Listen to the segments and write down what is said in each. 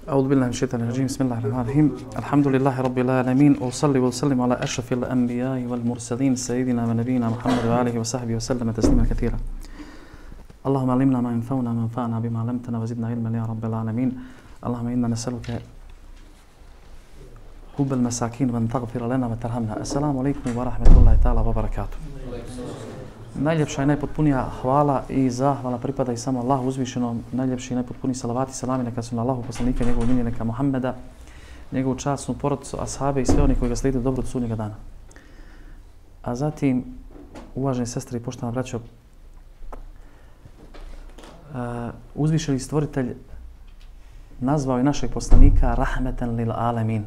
أعوذ بالله من الشيطان الرجيم بسم الله الرحمن الرحيم الحمد لله رب العالمين وأصلي وأسلم على أشرف الأنبياء والمرسلين سيدنا ونبينا محمد وآله وصحبه وسلم تسليما كثيرا اللهم علمنا ما ينفعنا وانفعنا بما علمتنا وزدنا علما يا رب العالمين اللهم إنا نسألك حب المساكين وأن تغفر لنا وترحمنا السلام عليكم ورحمة الله تعالى وبركاته. Najljepša i najpotpunija hvala i zahvala pripada i samo Allahu uzvišenom, najljepši i najpotpuniji salavati i salami neka su na Allahu poslanika, njegovog miljenika Muhammeda, njegovu časnu porodicu, ashabe i sve oni koji ga slijede dobro do sudnjega dana. A zatim, uvaženi sestre i poštovana braćo, uzvišeni stvoritelj nazvao je našeg poslanika rahmeten lil alemin.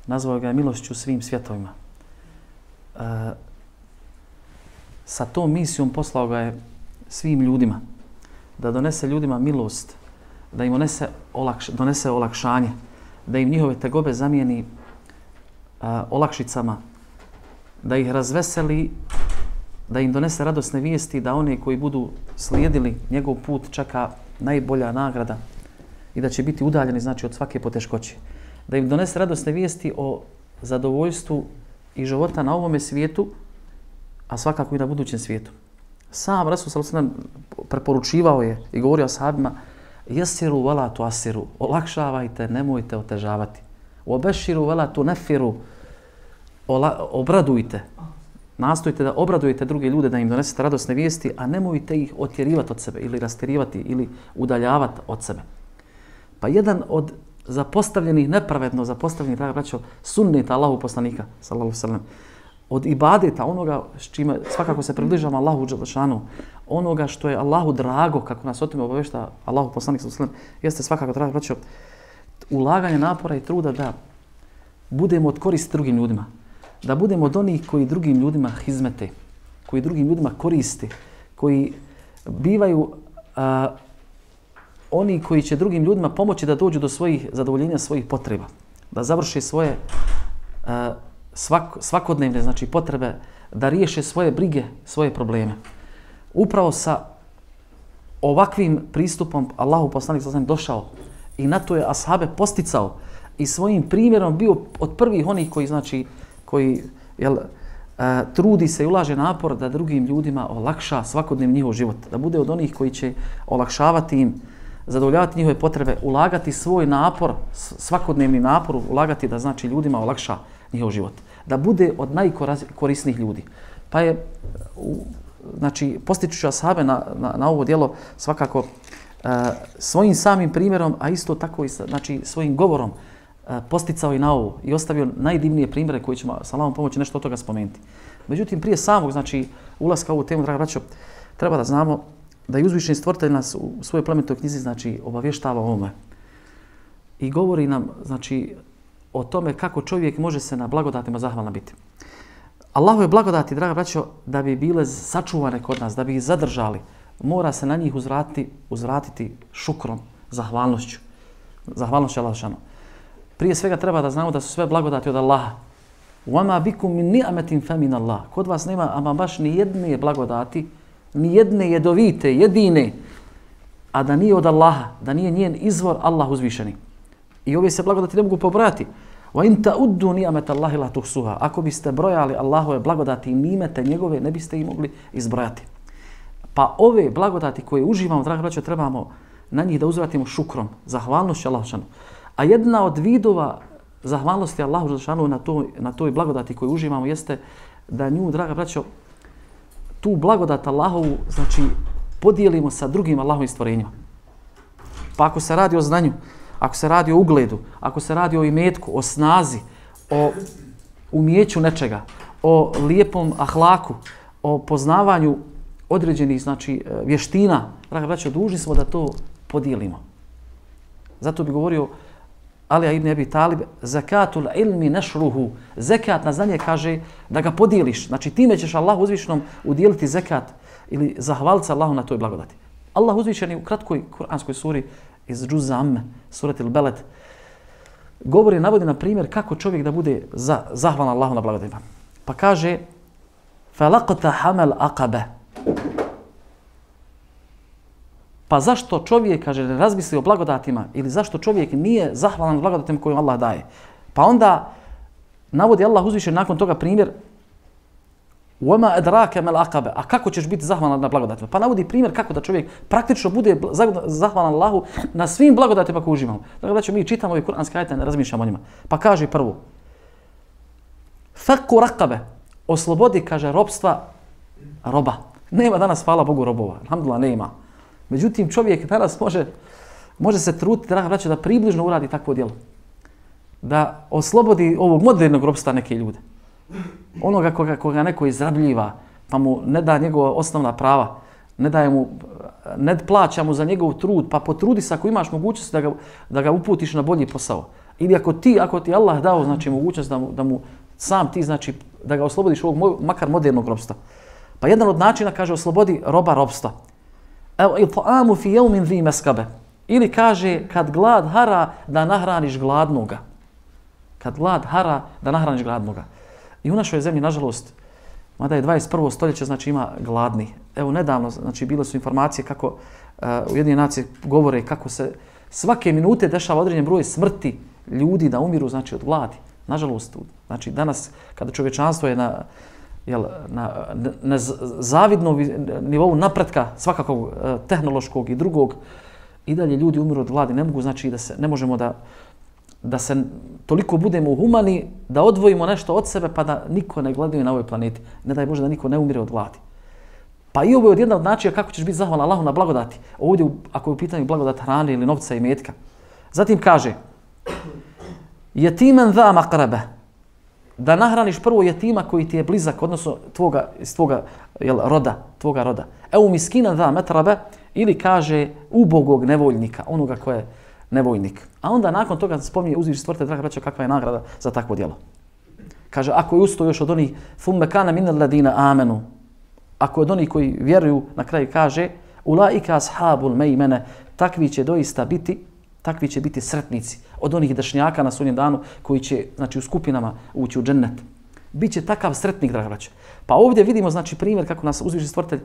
Nazvao ga je milošću svim svjetovima. Sa tom misijom poslao ga je svim ljudima, da donese ljudima milost, da im donese olakšanje, da im njihove tegobe zamijeni olakšicama, da ih razveseli, da im donese radosne vijesti, da one koji budu slijedili njegov put čeka najbolja nagrada i da će biti udaljeni znači od svake poteškoće. Da im donese radosne vijesti o zadovoljstvu i života na ovome svijetu, a svakako i na budućem svijetu. Sam Rasul sallallahu alejhi ve sellem preporučivao je i govorio ashabima: "Yasiru wala tu'assiru", olakšavajte, nemojte otežavati. "Wabashiru wala tunaffiru", obradujte. Nastojte da obradujete druge ljude, da im donesete radosne vijesti, a nemojte ih otjerivati od sebe ili rasterivati ili udaljavati od sebe. Pa jedan od zapostavljenih, nepravedno zapostavljenih, draga braćo, sunneta Allahu poslanika sallallahu alejhi ve sellem, od ibadeta, onoga s čime svakako se približava Allahu dželešanu, onoga što je Allahu drago, kako nas o tome obavješta Allahu poslanik sallallahu alejhi ve sellem, jeste svakako, draga braćo, ulaganje napora i truda da budemo od koristi drugim ljudima, da budemo od onih koji drugim ljudima hizmete, koji drugim ljudima koriste, koji bivaju oni koji će drugim ljudima pomoći da dođu do svojih zadovoljenja svojih potreba, da završe svoje svakodnevne znači potrebe, da riješe svoje brige, svoje probleme. Upravo sa ovakvim pristupom Allahu poslanik sallallahu alejhi ve sellem došao i na to je ashabe posticao i svojim primjerom bio od prvih onih koji trudi se i ulaže napor da drugim ljudima olakša svakodnevni njihov život, da bude od onih koji će olakšavati im, zadovoljavati njihove potrebe, ulagati svoj napor, svakodnevni napor, ulagati da znači ljudima olakša njihov život, da bude od najkorisnijih ljudi. Pa je znači postičući ashabe na ovo djelo svakako svojim samim primjerom, a isto tako i znači svojim govorom posticao i na ovo i ostavio najdivnije primjere koji ćemo sa Allahom pomoći nešto od toga spomenuti. Međutim, prije samog znači ulaska u ovu temu, draga braćo, treba da znamo da je uzvišeni stvoritelj nas u svojoj plemenitoj knjizi znači obavještava o ovome i govori nam znači o tome kako čovjek može se na blagodatima zahvalan biti. Allahove blagodati, draga braćo, da bi bile sačuvane kod nas, da bi ih zadržali, mora se na njih uzvratiti šukrom, zahvalnošću. Zahvalnošću Allahu dželešanu. Prije svega treba da znamo da su sve blagodati od Allaha. وَمَا بِكُمْ مِنْ نِعْمَةٍ فَمِنَ اللَّهِ. Kod vas nema ama baš ni jedne blagodati, ni jedne jedovite, jedine, a da nije od Allaha, da nije njen izvor Allah uzvišeni. I ove se blagodati ne mogu pobrojati. وَإِنْ تَعُدُّوا نِعْمَةَ اللَّهِ لَا تُحْصُوهَا. Ako biste brojali Allahove blagodati i nimete njegove, ne biste ih mogli izbrojati. Pa ove blagodati koje uživamo, draga braćo, trebamo na njih da uzvratimo šukrom, zahvalnošću Allahu dželešanu. A jedna od vidova zahvalnosti Allahu dželešanu na toj blagodati koju uživamo jeste da nju, draga braćo, tu blagodat Allahovu znači podijelimo sa drugim Allahovim stvorenjima. Pa ako se radi o znanju, ako se radi o ugledu, ako se radi o imetku, o snazi, o umijeću nečega, o lijepom ahlaku, o poznavanju određenih znači vještina, draga braćo, dužni smo da to podijelimo. Zato bi govorio Alija ibn Abi Talib: "Zakatul ilmi nashruhu." Zekat na znanje kaže da ga podijeliš. Znači time ćeš Allahu uzvišenom udijeliti zekat ili zahvaliti Allahu na toj blagodati. Allah uzvišeni u kratkoj kuranskoj suri iz Džuz Amme, surati Al-Beled, navodi na primjer kako čovjek da bude zahvalan Allahu na blagodatima. Pa kaže: "Falaqta hamal aqaba." Pa zašto čovjek, kaže, ne razmisli o blagodatima ili zašto čovjek nije zahvalan blagodatima koje Allah daje? Pa onda navodi Allah uzvišen nakon toga primjer وَمَا أَدْرَاكَ مَا الْعَقَبَ. A kako ćeš biti zahvalan na blagodatima? Pa navodi primjer kako da čovjek praktično bude zahvalan Allahu na svim blagodatima koje uživamo. Dakle, da mi čitamo ove kuranske ajete, ne razmišljamo o njima. Pa kaže prvo, فَكُّ رَقَبَ. Oslobodi, kaže, robstva roba. Nema danas, hvala Bogu, robova. Alhamdulillah, nema. Međutim, čovjek danas može se truditi, draga braćo, da približno uradi takvo djelo. Da oslobodi ovog modernog robstva neke ljude. Onoga koga neko izrabljiva, pa mu ne da njegova osnovna prava, ne plaća mu za njegov trud, pa potrudi se ako imaš mogućnost da ga uputiš na bolji posao. Ili ako ti Allah dao, znači, mogućnost da mu sam ti, znači, da ga oslobodiš ovog makar modernog robstva. Pa jedan od načina, kaže, oslobodi roba robstva. Evo, il'ta'amu fi yawmin dhi maskabe. Ili kaže, kad glad hara, da nahraniš gladnoga. Kad glad hara, da nahraniš gladnoga. I u našoj zemlji, nažalost, mada je 21. stoljeće, znači ima gladni. Evo, nedavno, znači, bile su informacije kako Ujedinjene nacije govore kako se svake minute dešava određen broj smrti ljudi da umiru, znači, od gladi. Nažalost, znači, danas, kada čovječanstvo je na zavidnom nivou napretka, svakakog tehnološkog i drugog, i dalje ljudi umiru od gladi. Ne mogu, znači, ne možemo da se toliko budemo humani, da odvojimo nešto od sebe, pa da niko ne gladuje na ovoj planeti. Ne daj Bože da niko ne umire od gladi. Pa i ovo je jedna od načina kako ćeš biti zahvalan Allahu na blagodati. Ovdje, ako je u pitanju blagodat hrane ili novca i metka. Zatim kaže, jetimen dha makrebe. Da nahraniš prvo jetima koji ti je blizak, odnosno iz tvoga roda. Evo miskina dha metrabe, ili kaže ubogog nevoljnika, onoga ko je nevoljnik. A onda nakon toga spominje uzviš stvorite, draga braćo, kakva je nagrada za takvo djelo. Kaže, ako je usto još od onih thumme kana minal ladina amenu, ako je od onih koji vjeruju, na kraju kaže, ulaika ashabul mejmene, takvi će biti sretnici od onih dešnjaka na sudnjem danu koji će, znači, u skupinama ući u džennet. Biće takav sretnik, draga braćo. Pa ovdje vidimo, znači, primjer kako nas uzvišeni stvoritelj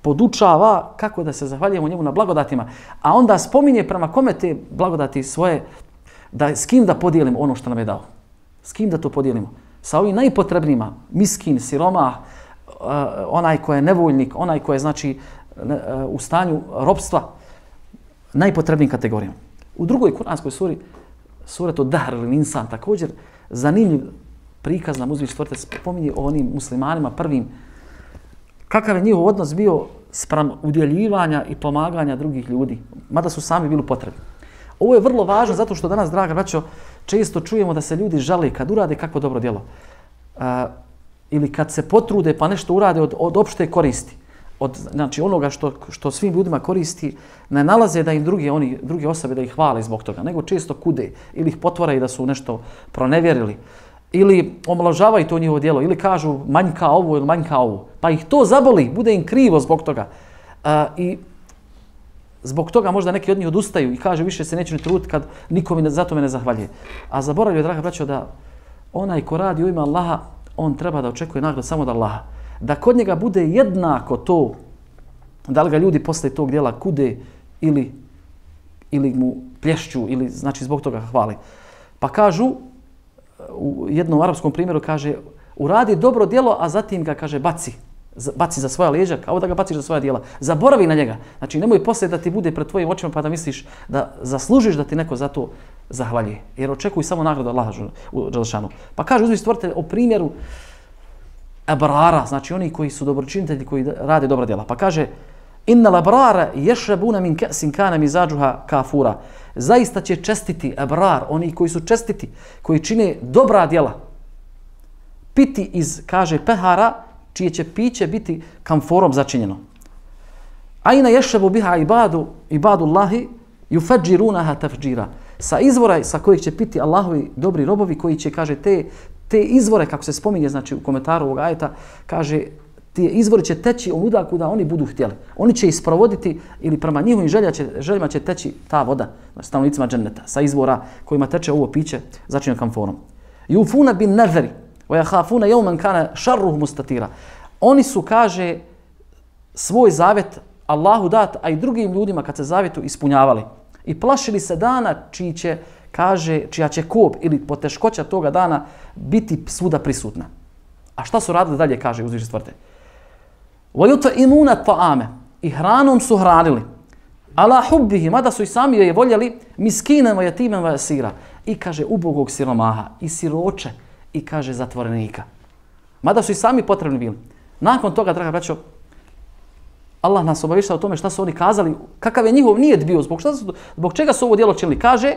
podučava kako da se zahvaljujemo njemu na blagodatima, a onda spominje prema kome te blagodati svoje, s kim da podijelimo ono što nam je dao. S kim da to podijelimo? Sa ovim najpotrebnijima, miskin, siromah, onaj ko je nevoljnik, onaj ko je, znači, u stanju robstva, najpotrebnijim kategorijama. U drugoj kuranskoj suri, suretu Dahr ili Insan, također zanimljiv prikaz nam uzvišeni stvoritelj spominje o onim muslimanima prvim, kakav je njihov odnos bio spram udjeljivanja i pomaganja drugih ljudi, mada su sami bili potrebni. Ovo je vrlo važno zato što danas, draga braćo, često čujemo da se ljudi žale kad urade kakvo dobro djelo. Ili kad se potrude pa nešto urade od opšte koristi. Znači onoga što svim ljudima koristi, ne nalaze da im druge osobe da ih hvale zbog toga, nego često kude ili ih potvaraju da su nešto pronevjerili. Ili omalovažavaju to njihovo djelo, ili kažu manjka ovo ili manjka ovo. Pa ih to zaboli, bude im krivo zbog toga. I zbog toga možda neki od njih odustaju i kaže više se neću ni truditi kad niko mi za to me ne zahvaljuje. A zaboravljaju, draga braćo, da onaj ko radi u ime Allaha, on treba da očekuje nagradu samo od Allaha. Da kod njega bude jednako to, da li ga ljudi posle tog djela kude ili mu plješću, ili znači zbog toga hvali. Pa kažu, u jednom arapskom primjeru kaže, uradi dobro djelo, a zatim ga, kaže, baci za svoja leđa, kao da ga baciš za svoja djela. Zaboravi na njega. Znači, nemoj poslije da ti bude pred tvojim očima pa da misliš da zaslužiš da ti neko za to zahvaljuje. Jer očekuj samo nagradu Allaha dželešanu. Pa kaže uzvišeni stvoritelj o primjeru abrara, znači oni koji su dobročinitelji, koji rade dobra djela. Pa kaže, innal abrara yashrabuna min ka'sin kana mizajuha kafura. Zaista će čestiti abrar, oni koji su čestiti, koji čine dobra djela, piti iz, kaže, pehara, čije će piće biti kamforom začinjeno. Aina yashrabu biha ibadullahi yufajjirunaha tafjira. Sa izvora sa kojih će piti Allahovi dobri robovi, koji će, kaže, te izvore, kako se spominje, znači u komentaru ovog ajeta, kaže, ti izvori će teći onuda kuda oni budu htjeli. Oni će isprovoditi ili prema njihovim željama će teći ta voda, stanovnicima dženneta, sa izvora kojima teče ovo piće začinjeno kamforom. Yufuna bin nadhri wa yakhafuna yawman kana sharruhu mustatira. Oni su, kaže, svoj zavet Allahu dat, a i drugim ljudima kad se zavjetu ispunjavali. I plašili se dana čija će kop ili poteškoća toga dana biti svuda prisutna. A šta su radili dalje, kaže uzvišeni stvrte? وَيُطْعِمُونَ الطَّعَامَ I hranom su hranili. Ala hubbihi, mada su i sami je voljeli, miskinem, jatimen, vasira. I kaže ubogog siromaha, i siroče, i kaže zatvorenika. Mada su i sami potrebni bili. Nakon toga, draga braćo, Allah nas obavještava o tome šta su oni kazali, kakav je njihov nijet bio, zbog čega su ovo djelo činili. Kaže,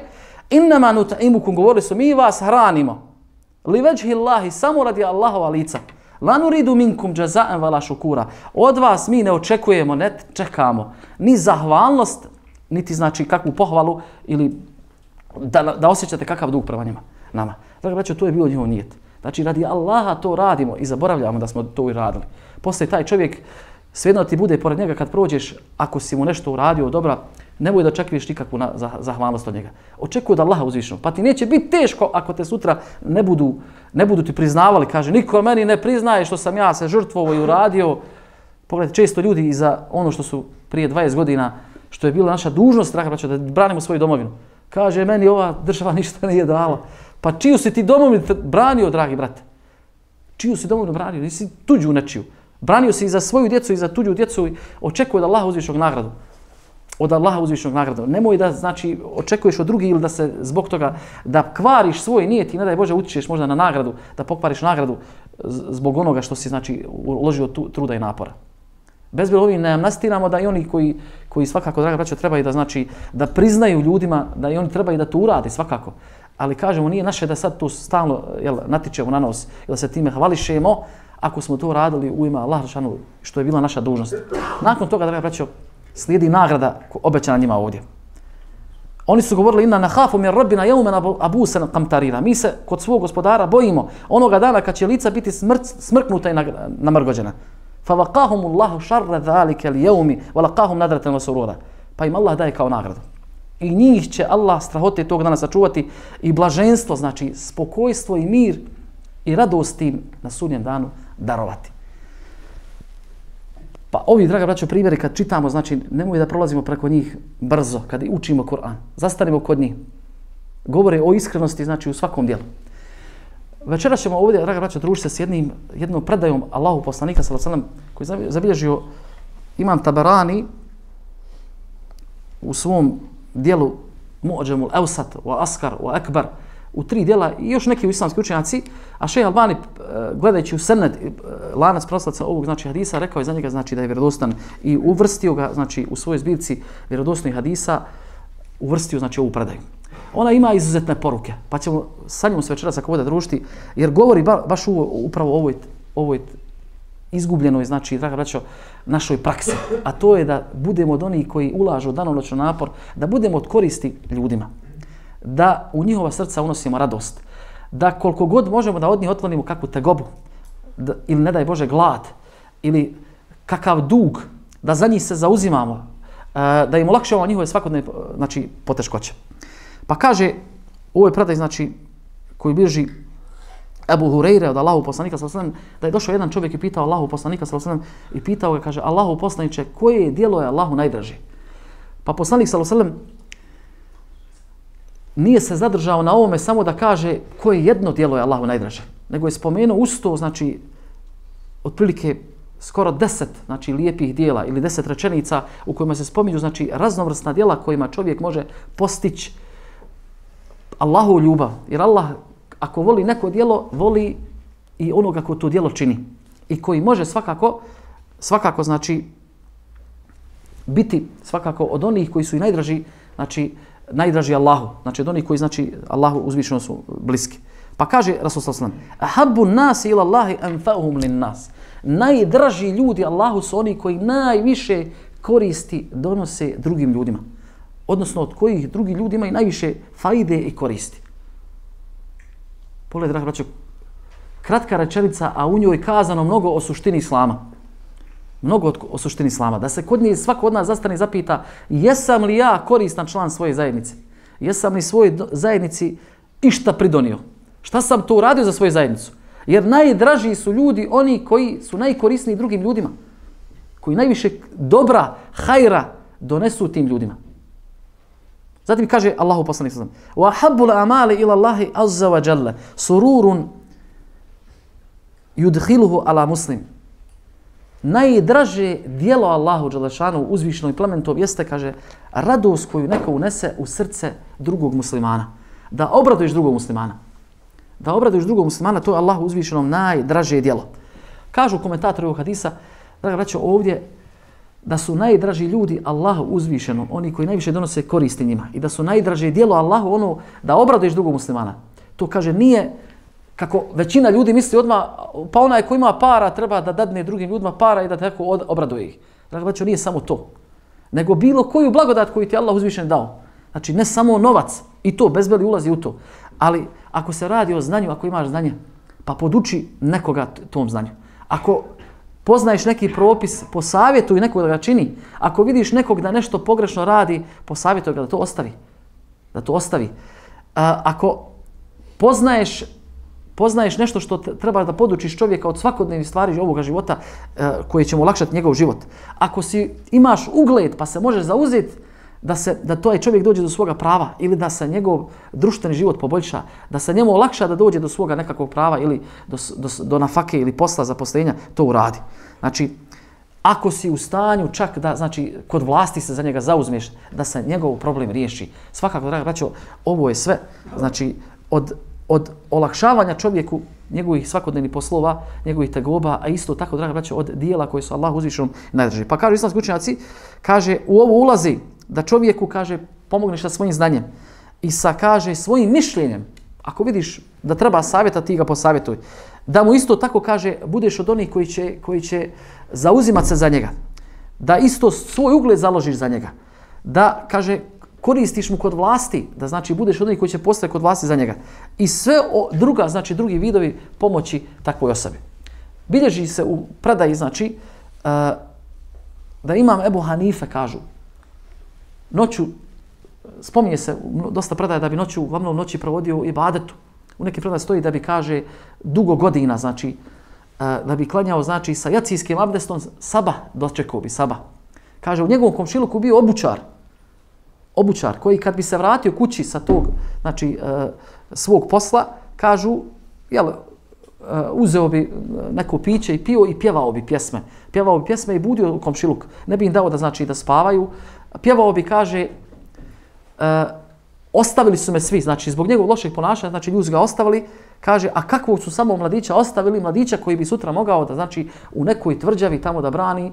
innama nut'imukum, govorili su, mi vas hranimo. Li veđhi Allahi, samo radi Allahova lica. La nuridu minkum jaza'an wala šukura. Od vas mi ne očekujemo, ne čekamo ni zahvalnost, niti znači kakvu pohvalu ili da osjećate kakav dug prema njima, nama. Dakle, braćo, to je bio njihov nijet. Znači, radi Allaha to radimo i zaboravljamo da smo to i radili. Poslije taj čovjek, svejedno ti bude pored njega kad prođeš, ako si mu nešto uradio dobra, nemoj da očekuješ nikakvu zahvalnost od njega. Očekuj od Allaha uzvišenog. Pa ti neće biti teško ako te sutra ne budu ti priznavali. Kaže, niko meni ne priznaje što sam ja se žrtvovao i uradio. Pogledajte, često ljudi i za ono što su prije 20 godina, što je bila naša dužnost, draga braćo, da branimo svoju domovinu. Kaže, meni ova država ništa nije dala. Pa čiju si ti domovinu branio, dragi brate? Čiju si domovinu branio? Nisi tuđu nečiju. Branio si i za svoju djecu i za tuđu djecu i očekuje od Allaha uzvišenog nagradu. Od Allaha uzvišenog nagradu. Nemoj da znači očekuješ od drugih ili da se zbog toga da kvariš svoj nijet i ne daj Bože utičeš možda na nagradu, da pokvariš nagradu zbog onoga što si znači uložio truda i napora. Bezbilo ovim ne amnestiramo da i oni koji svakako, draga braćo, trebaju da znači da priznaju ljudima da i oni trebaju da to urade svakako. Ali kažemo, nije naše da sad tu stalno natičemo na nos ili da se time hvališemo ako smo to radili u ime Allaha što je bila naša dužnost. Nakon toga, draga braćo, slijedi nagrada obećana njima ovdje. Oni su govorili inna nakhafu min rabbina yawman abusan qamtarira. Mi se kod svog gospodara bojimo onoga dana kad će lica biti smrknuta i namrgođena. Fawaqahum Allahu sharra zalika al-yawmi wa laqahum nadratan wa surura. Pa im Allah daje kao nagradu. I njih će Allah strahote tog dana sačuvati i blaženstvo, znači spokojstvo i mir i radost im na sudnjem danu darovati. Pa ovi, draga braćo, primjeri kad čitamo, znači nemoj da prolazimo preko njih brzo, kad učimo Kur'an. Zastanimo kod njih. Govore o iskrenosti, znači u svakom dijelu. Večeras ćemo ovdje, draga braćo, družiti se s jednom predajom Allahu poslanika sallallahu alejhi ve sellem koji je zabilježio Imam Tabarani u svom dijelu Mu'džamul Awsat wa Askar wa Akbar u 3 dijela i još neki islamski učenjaci, a Šejh Albani gledajući u sened lanac prenoslaca ovog znači hadisa rekao je za njega znači da je vjerodostan i uvrstio ga znači u svojoj zbirci vjerodostojnih hadisa uvrstio znači ovu predaju. Ona ima izuzetne poruke, pa ćemo sa njom se večeras ako bude družiti jer govori baš upravo o ovoj izgubljenoj, znači, draga braćo, našoj praksi. A to je da budemo od onih koji ulažu danonoćno napor, da budemo od koristi ljudima. Da u njihova srca unosimo radost. Da koliko god možemo da od njih otklonimo kakvu tegobu, ili ne daj Bože glad, ili kakav dug, da za njih se zauzimamo, da im olakšavamo njihove svakodnevne znači, poteškoće. Pa kaže, u ovoj predaj, znači, koji bilježi Ebu Hureyre od Allahu poslanika sallallahu alejhi ve sellem, da je došao jedan čovjek i pitao Allahu poslanika sallallahu alejhi ve sellem i pitao ga, kaže, Allahu poslaniče, koje djelo je Allahu najdraže? Pa poslanik sallallahu alejhi ve sellem nije se zadržao na ovome samo da kaže koje jedno djelo je Allahu najdraže, nego je spomenuo usto, znači, otprilike skoro 10 znači, lijepih djela ili 10 rečenica u kojima se spominju znači, raznovrsna djela kojima čovjek može postići Allahu ljubav. Jer Allah, ako voli neko djelo, voli i onoga ko to djelo čini. I koji može svakako znači, biti svakako od onih koji su i najdraži, znači, najdraži Allahu. Znači, od onih koji znači, Allahu uzvišeno su bliski. Pa kaže Rasul sallallahu alejhi ve sellem: "Ahabbu an-nasi ila Allahi anfa'uhum lin-nas." Najdraži ljudi Allahu su oni koji najviše koristi donose drugim ljudima. Odnosno od kojih drugi ljudi imaju najviše fajde i koristi. Pogledaj, draga braćo, kratka rečenica, a u njoj kazano mnogo o suštini islama. Mnogo o suštini islama. Da se kod njih svako od nas zastane i zapita jesam li ja koristan član svoje zajednice? Jesam li svojoj zajednici išta pridonio? Šta sam to uradio za svoju zajednicu? Jer najdraži su ljudi oni koji su najkorisniji drugim ljudima. koji najviše dobra, hajra donesu tim ljudima. Zatim kaže Allahu poslanik sallallahu alejhi ve sellem: "Wa habbul a'mali ila Allahi azza wa jalla sururun yudkhiluhu ala muslim." Najdraže dijelo Allahu dželešanu uzvišenom i plementom jeste, kaže, radost koju neko unese u srce drugog muslimana. Da obraduješ drugog muslimana. Da obraduješ drugog muslimana, to je Allahu uzvišenom najdraže dijelo. Kažu komentatori ovog hadisa, draga braćo, ovdje da su najdraži ljudi Allahu uzvišenom, oni koji najviše donose koristi njima, i da su najdraže dijelo Allahu ono da obraduješ drugog muslimana. To, kaže, nije kako većina ljudi misli odmah, pa onaj ko ima para treba da dadne drugim ljudima para i da tako obraduje ih. Draga braćo, nije samo to, nego bilo koju blagodat koju ti Allah uzvišen dao. Znači, ne samo novac, i to bezbeli ulazi u to, ali ako se radi o znanju, ako imaš znanje, pa poduči nekoga tom znanju. Ako poznaješ neki propis, posavjetuj nekog da ga čini. Ako vidiš nekog da nešto pogrešno radi, posavjetuj ga da to ostavi. Da to ostavi. Ako poznaješ nešto što treba da podučiš čovjeka od svakodnevnih stvari ovoga života koje će mu olakšati njegov život. Ako imaš ugled pa se možeš zauzeti da taj čovjek dođe do svoga prava ili da se njegov društveni život poboljša, da se njemu olakša da dođe do svoga nekakvog prava ili do nafake ili posla, zaposlenja, to uradi. Znači, ako si u stanju čak da, znači, kod vlasti se za njega zauzmeš, da se njegov problem riješi. Svakako, draga braćo, ovo je sve, znači, od olakšavanja čovjeku njegovih svakodnevnih poslova, njegovih tegoba, a isto tako, draga braćo, od dijela koje su Allah uzvišenom najdraži. Pa kažu islamski učenjaci, kaže, u ovo ulazi da čovjeku, kaže, pomogneš sa svojim znanjem i sa, kaže, svojim mišljenjem. Ako vidiš da treba savjeta, ti ga posavjetuj. Da mu isto tako, kaže, budeš od onih koji će zauzimati se za njega. Da isto svoj ugled založiš za njega. Da, kaže, koristiš mu kod vlasti, da, znači, budeš od onih koji će postati kod vlasti za njega. I sve druga, znači, drugi vidovi pomoći takvoj osobi. Bilježi se u predaji, znači, da imam Ebu Hanife, kažu, noću, spominje se dosta predaje da bi uglavnom noći provodio u ibadetu. U neki predaj stoji da bi, kaže, dugo godina, znači, da bi klanjao, znači, sa jacijskim abdestom sabah, dočekao bi sabah. Kaže, u njegovom komšiluku bio obućar koji kad bi se vratio kući sa tog, znači, svog posla, kažu, jel, uzeo bi neko piće i pio i pjevao bi pjesme. Pjevao bi pjesme i budio u komšiluk. Ne bi im dao da, znači, da spavaju. Pjevao bi, kaže, ostavili su me svi, znači, zbog njegovog lošeg ponašanja, znači, ljudi ga ostavili, kaže, a kakvog su samo mladića ostavili, mladića koji bi sutra mogao da, znači, u nekoj tvrđavi tamo da brani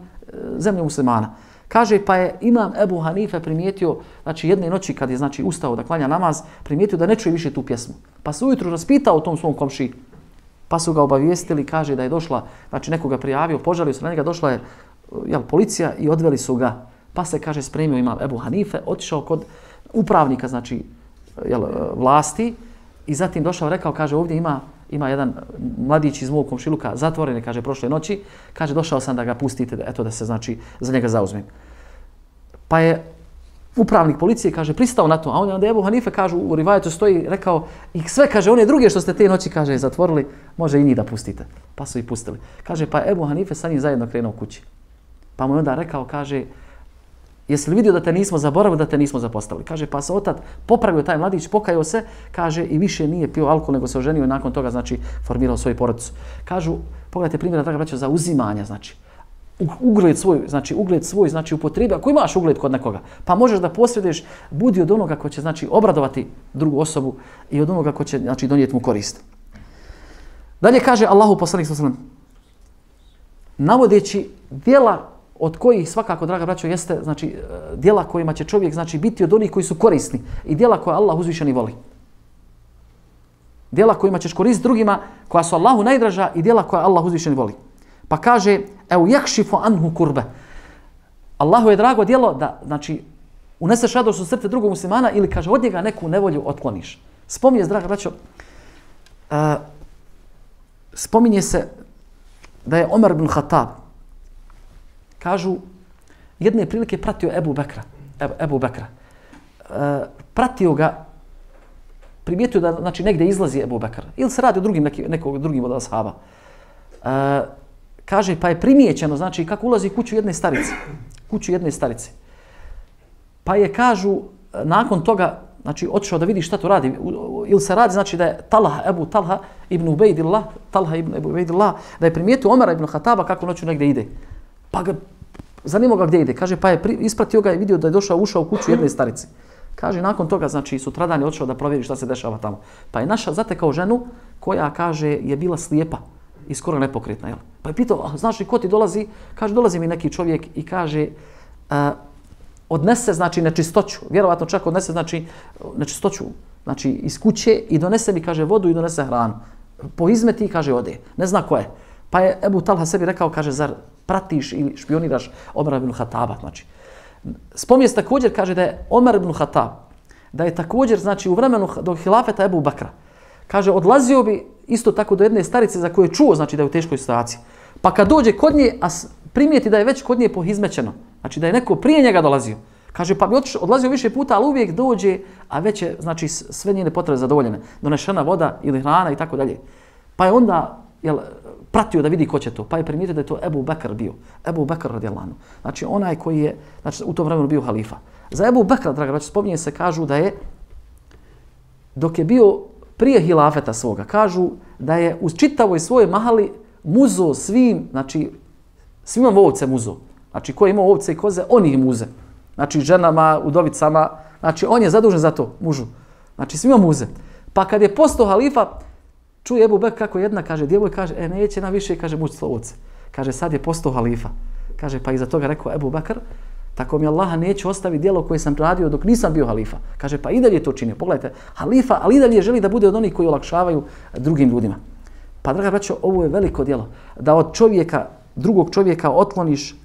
zemlju muslimana. Kaže, pa je imam Ebu Hanife primijetio, znači, jedne noći kad je, znači, ustao da klanja namaz, primijetio da ne čuje više tu pjesmu. Pa se ujutru raspitao o tom svom komšiji. Pa su ga obavijestili, kaže da je došla, znači, nekoga prijavio, požalio se na njega, došla je, jel, policija i odveli su ga. Pa se, kaže, spremio imam Ebu Hanife, otišao kod upravnika, znači, jel, vlasti, i zatim došao, rekao, kaže, ovdje ima jedan mladić iz mog komšiluka, zatvoren je, kaže, prošle noći, kaže, došao sam da ga pustite, eto, da se, znači, za njega zauzmem. Pa je upravnik policije, kaže, pristao na to, a onda Ebu Hanife, kaže, u rivajetu stoji, rekao, i sve, kaže, one druge što ste te noći, kaže, zatvorili, može i njih da pustite. Pa su ih pustili. Kaže, pa Ebu Hanife sa njim zajedno krenuo kući. Pa mu je onda rekao, kaže, jesi li vidio da te nismo zaboravili, da te nismo zapostavili? Kaže, pa se otad popravio taj mladić, pokajao se, kaže, i više nije pio alkohol, nego se oženio i nakon toga, znači, formirao svoju porodicu. Kažu, pogledajte primjera, draga braćo, za uzimanja, znači, ugled svoj, znači, upotrebi. Ako imaš ugled kod nekoga, pa možeš da posreduješ, budi od onoga ko će, znači, obradovati drugu osobu i od onoga ko će, znači, donijeti mu korist. Dalje kaže Allahu poslanik sallallahu alejhi ve sellem, navodeći djela od kojih svakako, draga braćo, jeste, znači, djela kojima će čovjek, znači, biti od onih koji su korisni i djela koja Allah uzvišeni voli. Djela kojima ćeš koristiti drugima, koja su Allahu najdraža i djela koja Allah uzvišeni voli. Pa kaže, evo yakšifu anhu kurbe. Allahu je drago djelo da, znači, uneseš radost u srce drugog muslimana ili, kaže, od njega neku nevolju otkloniš. Spominje, draga braćo, spominje se da je Omer ibn Khattab, kažu, jedne prilike pratio Ebu Bekra. Pratio ga, primijetio da, znači, negdje izlazi Ebu Bekr. Ili se radi o drugim od ashaba. Kaže, pa je primijećeno, znači kako ulazi u kuću jedne starice. Kuću jedne starice. Pa je, kažu, nakon toga, znači otišao da vidi šta to radi. Ili se radi, znači da je Ebu Talha ibn Ubejdillah, da je primijetio Omara ibn Hataba kako noću negdje ide. Pa ga zanimao ga gdje ide. Kaže, pa je ispratio ga i vidio da je ušao u kuću jedne starice. Kaže, nakon toga, znači, sutradan je otišao da provjeri šta se dešava tamo. Pa je zatekao ženu koja, kaže, je bila slijepa i skoro nepokretna. Jel? Pa je pitao, znaš li ko ti dolazi? Kaže, dolazi mi neki čovjek i kaže, odnese, znači, nečistoću. Vjerovatno čak odnese, znači, nečistoću, znači, iz kuće i donese mi, kaže, vodu i donese hranu. Po izmeti, kaže, ode. Ne zna ko je. Pa je Ebu Talha sebi rekao, kaže, zar pratiš ili špioniraš Omara ibn Hataba, znači. Spominje se također, kaže da je Omar ibn Hatab, da je također, znači, u vremenu do hilafeta Ebu Bakra, kaže, odlazio bi isto tako do jedne starice za koju je čuo, znači, da je u teškoj situaciji. Pa kad dođe kod nje, a primijeti da je već kod nje pohizmećeno, znači da je neko prije njega dolazio, kaže, pa bi odlazio više puta, ali uvijek dođe, a već je, znači, sve njene potrebe zadovoljene, donešena voda ili hrana i tako dalje. Pa je onda, pratio da vidi ko će to, pa je primijetio da je to Ebu Bekr bio. Ebu Bekr radijallahu anhu. Znači onaj koji je, znači, u tom vremenu bio halifa. Za Ebu Bekra, draga braćo, spominje se, kažu da je, dok je bio prije hilafeta svoga, kažu da je u čitavoj svojoj mahali muzo svim, znači svima ovce muzo. Znači ko je imao ovce i koze, on ih muze. Znači ženama, udovicama, znači on je zadužen za to, mužu. Znači svima muze. Pa kad je postao halifa, čuje Ebu Bekr kako jedna, kaže, djevoj, kaže, neće nam više, kaže, mući ovce. Kaže, sad je postao halifa. Kaže, pa iza toga rekao Ebu Bekr, tako mi Allaha neće ostaviti djelo koje sam radio dok nisam bio halifa. Kaže, pa i dalje to činio. Pogledajte, halifa, ali i dalje želi da bude od onih koji olakšavaju drugim ljudima. Pa, draga braćo, ovo je veliko djelo. Da od čovjeka, drugog čovjeka otkloniš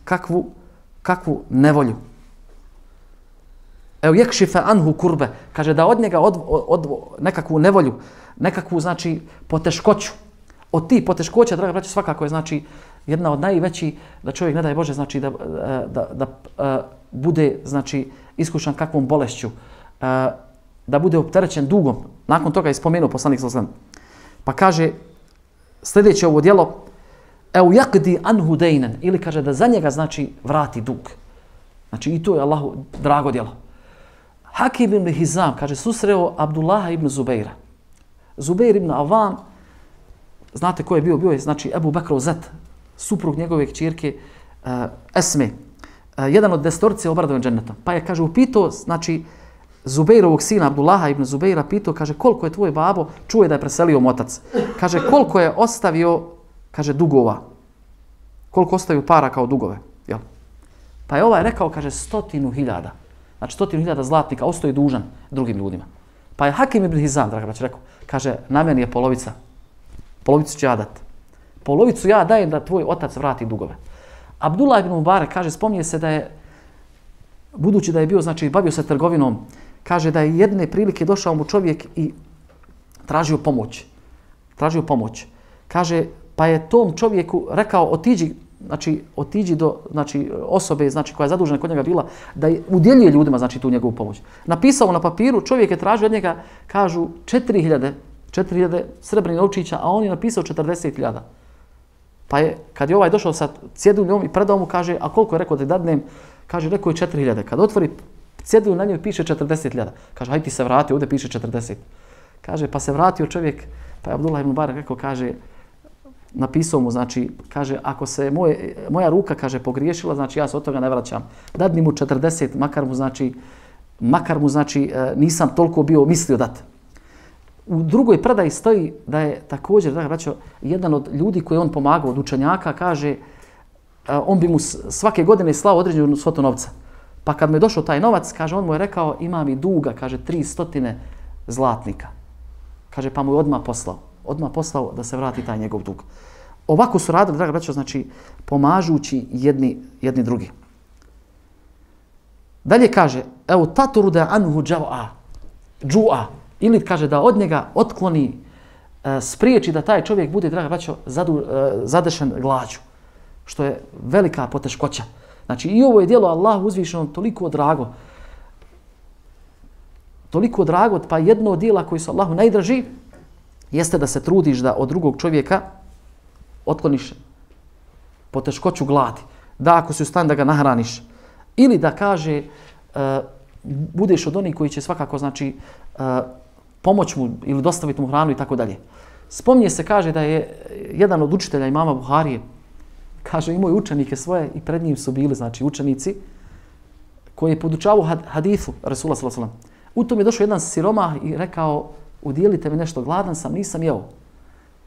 kakvu nevolju. Evo, jekšife anhu kurbe. Kaže, da od njega nekakvu nevolju, nekakvu, znači, poteškoću. Od tih poteškoća, draga braćo, svakako je, znači, jedna od najvećih, da čovjek, ne daj Bože, znači, da bude, znači, iskušan kakvom bolešću, da bude opterećen dugom. Nakon toga je spomenuo poslanik sallallahu alejhi ve sellem. Pa kaže, sljedeće ovo djelo, evo yakdi anhu daynan, ili kaže da za njega, znači, vrati dug. Znači, i to je Allahu drago djelo. Hakim ibn Hizam, kaže, susreo Abdullaha ibn Zubeira. Zubeir ibn Avam, znate ko je bio? Bio je, znači, Ebu Bekrov zet, suprug njegove kćerke Esme. Jedan od 10 obradovan džennetom. Pa je, kaže, upitao, znači, Zubeirovog sina, Abdullaha ibn Zubeira, pitao, kaže, koliko je tvoj babo, čuje da je preselio otac. Kaže, koliko je ostavio, kaže, dugova. Koliko ostavio para kao dugove. Jel? Pa je ovaj rekao, kaže, 100.000. Znači 100.000 zlatnika ostaje dužan drugim ljudima. Pa je Hakim ibn Hizam, draga braćo, rekao, kaže, na meni je polovica. Polovicu ću ja dati. Polovicu ja dajem da tvoj otac vrati dugove. Abdullah ibn Mubarak, kaže, spominje se da je, budući da je bio, znači, bavio se trgovinom, kaže da je jedne prilike došao mu čovjek i tražio pomoć. Tražio pomoć. Kaže, pa je tom čovjeku rekao, otiđi do, znači, osobe, znači, koja je zadužena kod njega bila, da udjeljuje ljudima, znači, tu njegovu pomoć. Napisao na papiru, čovjek je tražio od njega, kažu, 4.000 srebrnih novčića, a on je napisao 40.000. Pa je, kad je ovaj došao sa cjeduljom i predao mu, kaže, a koliko je rekao da dadnem, kaže, rekao je 4.000. Kad otvori cjedulju, na njoj piše 40.000. Kaže, hajde ti se vrati, ovdje piše 40. Kaže, pa se vratio čovjek, pa je Abdullah ibn Mubarak rekao, kaže, napisao mu, znači, kaže, ako se moja ruka, kaže, pogriješila, znači, ja se od toga ne vraćam. Dadni mu 40, makar mu, znači, nisam toliko bio mislio dati. U drugoj predaji stoji da je također, da braćo, jedan od ljudi koji on pomagao, od učenjaka, kaže, on bi mu svake godine slao određenu svotu novca. Pa kad mu je došao taj novac, kaže, on mu je rekao, ima mi duga, kaže, 300 zlatnika. Kaže, pa mu je odmah poslao da se vrati taj njegov dug. Ovako su radili, draga braćo, znači, pomažući jedni drugi. Dalje kaže, evo, taturu da anhu džu'a, ili kaže da od njega otkloni, spriječi da taj čovjek bude, draga braćo, zadešen glađu, što je velika poteškoća. Znači, i ovo je djelo Allahu uzvišenom toliko drago, pa jedno od djela koji su Allahu najdraži, jeste da se trudiš da od drugog čovjeka otkloniš poteškoću gladi, da ako si u stanju da ga nahraniš, ili da kaže budeš od onih koji će svakako znači pomoć mu ili dostaviti mu hranu i tako dalje. Spominje se, kaže da je jedan od učitelja imama Buharije, kaže imao je učenike svoje i pred njim su bili znači učenici koji je podučavao hadithu Rasula sallallahu alejhi ve sellem. U tom je došao jedan siromah i rekao udjelite mi nešto, gladan sam, nisam jeo.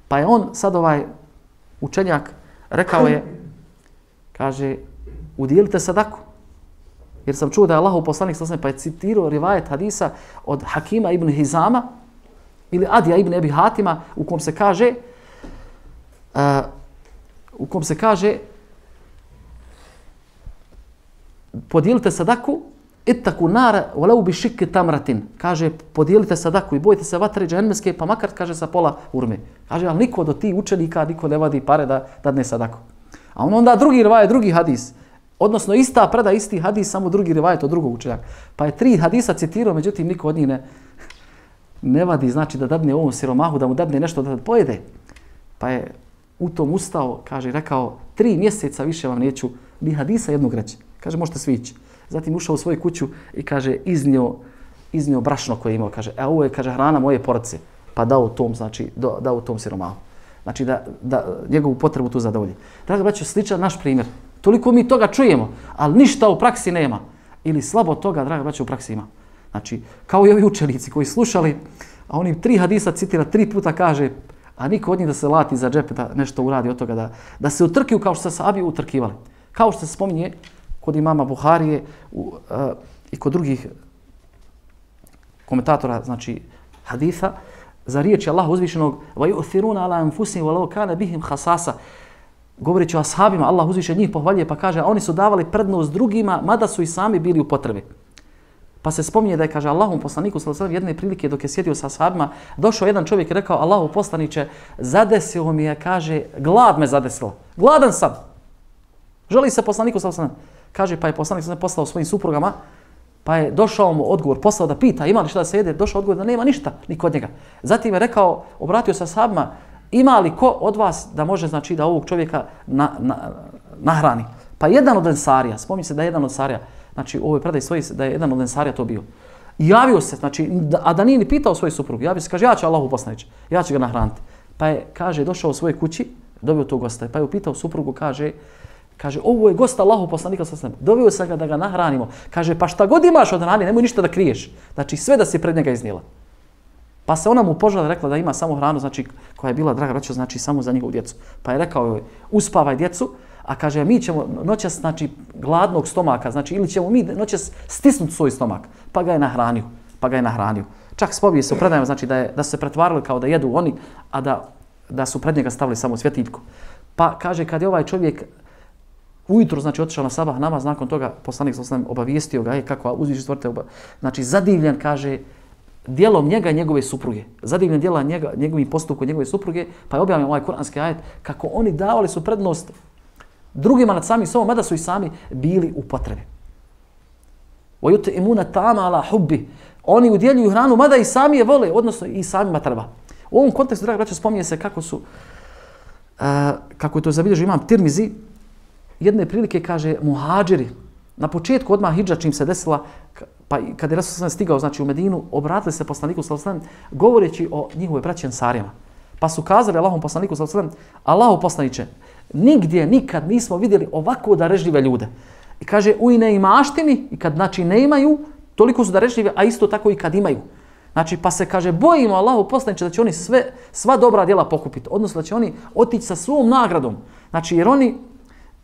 Pa je on sad učenjak rekao je, kaže udjelite sadaku. Jer sam čuo da je Allahov poslanik sallallahu alejhi ve sellem pa je citirao rivajet hadisa od Hakima ibn Hizama ili Adija ibn Ebi Hatima u kom se kaže podijelite sadaku ittaku nara walau bi shikki tamratin. Kaže podijelite sadaku i bojite se vatre džehennemske pa makar kaže sa pola urme. Kaže al niko do ti učenika niko ne vadi pare da dadne sadaku. A onda drugi rivajet, drugi hadis. Odnosno ista preda, isti hadis, samo drugi rivajet od drugog učenjaka. Pa je 3 hadisa citirao, međutim niko od njih ne vadi, znači da dadne ovom siromahu, da mu dadne nešto da pojede. Pa je u tom ustao, kaže, rekao, 3 mjeseca više vam neću ni hadisa jednog reći. Kaže, možete svi ići. Zatim ušao u svoju kuću i kaže, iznio brašno koje je imao. Kaže, ovo je, kaže, hrana moje porodice. Pa dao tom, znači, dao tom siromahu. Znači da njegovu potrebu tu zadovolji. Draga braćo, sličan naš primjer. Toliko mi toga čujemo, ali ništa u praksi nema. Ili slabo toga, draga braćo, u praksi ima. Znači, kao i ovi učenici koji slušali, a oni 3 hadisa citira, 3 puta kaže, a niko od njih da se lati za džep, da nešto uradi od toga, da se utrkiju kao što se sahabi utrkivali. Kao što se spominje kod imama Buharije i kod drugih komentatora, znači haditha, za riječi Allaha uzvišenog وَيُؤْثِرُونَ عَلَى أَنفُسِهِمْ وَلَوْ كَانَ بِهِمْ خَصَاصَ. Govoreći o ashabima, Allah uzviše njih pohvaljuje pa kaže, a oni su davali prednost drugima, mada su i sami bili u potrebi. Pa se spominje da je, kaže, Allahom poslaniku sallallahu alejhi ve sellem jedne prilike dok je sjedio sa ashabima, došao jedan čovjek i rekao, Allahov poslaniče, zadesio mi je, kaže, glad me zadesila. Gladan sam. Želi se poslaniku sallallahu alejhi ve sellem. Kaže, pa je poslanik sallallahu alejhi ve sellem poslao svojim suprugama, pa je došao mu odgovor, poslao da pita ima li šta da se jede, došao odgovor da nema ništa ni kod njega. Zatim je rekao, obratio se ashabima, ima li ko od vas da može, znači, da ovog čovjeka nahrani? Pa jedan od ensarija, spominje se da je jedan od ensarija, znači u ovoj predaji stoji da je jedan od ensarija to bio. I javio se, znači, a da nije ni pitao svoju suprugu, javio se, kaže, ja ću Allahu poslaniče, ja ću ga nahraniti. Pa je, kaže, došao u svojoj kući, dobio tog gosta, pa je upitao suprugu, kaže, ovo je gost Allahu poslanika sallallahu alejhi ve sellem, doveo sam ga da ga nahranimo. Kaže, pa šta god imaš od hrane, nemoj ništa da kriješ. Znači, sve da si pred njega iznijela. Pa se ona mu požalila, rekla da ima samo hranu, znači, koja je bila, draga braćo, znači, samo za njegovu djecu. Pa je rekao joj, uspavaj djecu, a kaže, mi ćemo noćas, znači, gladnog stomaka, znači, ili ćemo mi noćas stisnuti svoj stomak. Pa ga je nahranio. Čak spominje se u predajama, znači, da su se pretvarali kao da jedu oni, a da su pred njega stavili samo svjetiljku. Pa kaže, kad je ovaj čovjek ujutro, znači, otišao na sabah namaz, nakon toga poslanik sallallahu alejhi ve sellem obavijestio ga, kako uzviši stvoritelj, znači, zadivljen, kaže, djelom njega i njegove supruge. Zadivljen djela njegovim postupkom njegove supruge, pa je objavljen ovaj kuranski ajet kako oni davali su prednost drugima nad samim sobom, mada su i sami bili u potrebi. وَيُطْعِمُونَ الطَّعَامَ عَلَى حُبِّهِ. Oni udjeljuju hranu, mada i sami je vole, odnosno i samima treba. U ovom kontekstu, draga braćo, spominje se kako je to zabilježio imam Tirmizi, jedne prilike, kaže, muhadžiri, na početku odmah hidža čim se desila, pa kad je Rasul stigao, znači, u Medinu, obratili se poslaniku sallallahu alejhi ve sellem govoreći o njihove braći Ensarijama. Pa su kazali Allahom poslaniku sallallahu alejhi ve sellem, Allahu poslaniče, nigdje nikad nismo vidjeli ovako darežljive ljude. I kaže, u neimaštini, i kad, znači, ne imaju, toliko su darežljive, a isto tako i kad imaju. Znači, pa se, kaže, bojimo Allahu poslaniče da će oni sva dobra djela pokupiti, odnosno da će oni otići sa svom nagradom. Znači, jer oni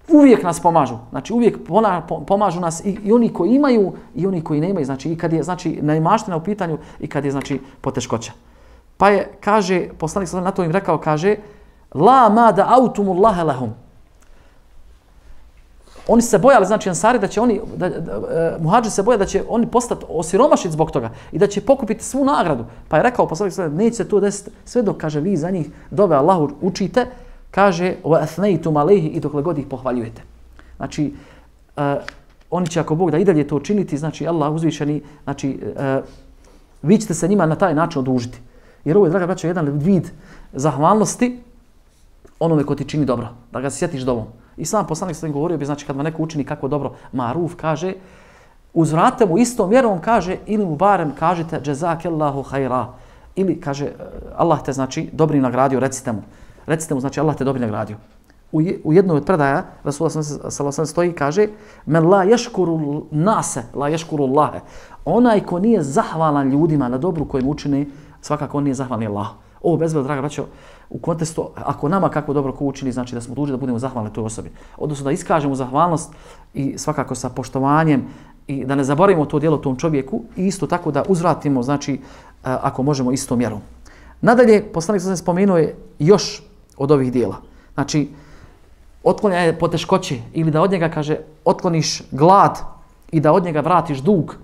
uvijek nas pomažu. Znači, uvijek pomažu nas i oni koji imaju i oni koji nemaju. Znači, i kad je, znači, neimaština u pitanju i kad je, znači, poteškoća. Pa je, kaže, poslanik sallallahu na to im rekao, kaže, la ma da autumullaha lahum. Oni se bojali, znači, Ansari, da će oni, muhadži se boje da će oni postati osiromašiti zbog toga i da će pokupiti svu nagradu. Pa je rekao poslanik sallallahu neće se to desiti sve dok, kaže, vi za njih dove Allahu učite, kaže, wa athnaytum alayhi, i dokle god ih pohvaljujete. Znači, oni će, ako Bog da i dalje to činiti, znači, Allah uzvišeni, znači, vi ćete se njima na taj način odužiti. Jer ovo je, draga braćo, jedan vid zahvalnosti onome ko ti čini dobro, da ga sjetiš dovom. I sam poslanik sam govorio bi, znači kad mu neko učini kako dobro maruf, kaže, uzvrate mu istom mjerom, kaže, ili mu barem kažete jazakallahu khaira, ili kaže Allah te znači dobrim nagradio, recite mu znači Allah te dobrim nagradio. U jednoj od predaja Rasulullah sallallahu alejhi ve sellem stoji, kaže, men la yashkuru nase la yashkuru Allah. Onaj ko nije zahvalan ljudima na dobru kojem učini, svakako on nije zahvalan Allahu. Ovo bezbroj, draga braćo, u kontekstu, ako nama kako dobro ko učini, znači da smo dužni da budemo zahvalni toj osobi. Odnosno da iskažemo zahvalnost i svakako sa poštovanjem i da ne zaboravimo to djelo tom čovjeku i isto tako da uzvratimo, znači, ako možemo istom mjerom. Nadalje, poslanik sam spomenuo je još od ovih djela. Znači, otklanjanje poteškoće ili da od njega, kaže, otkloniš glad i da od njega vratiš dug.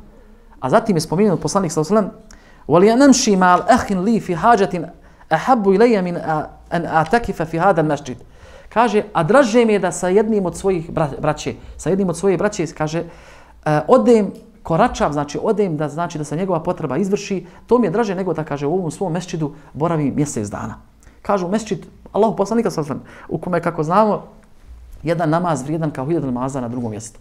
A zatim je spomenuo poslanik sallallahu alejhi ve sellem: "Waliyanamshi ma'al akhin li fi hajatin ahabbu ilayya min an atakifa fi hada al-masjid." Kaže, a draže mi je da sa jednim od svojih braće, kaže, odem koračam, znači odem da znači da se njegova potreba izvrši, to mi je draže nego da, kaže, u ovom svom mesdžidu boravi mjesec dana. Kažu mesdžid Allahu poslanika sallallahu alejhi ve sellem, u kome, kako znamo, jedan namaz vrijedan kao 1000 namaza na drugom mjestu.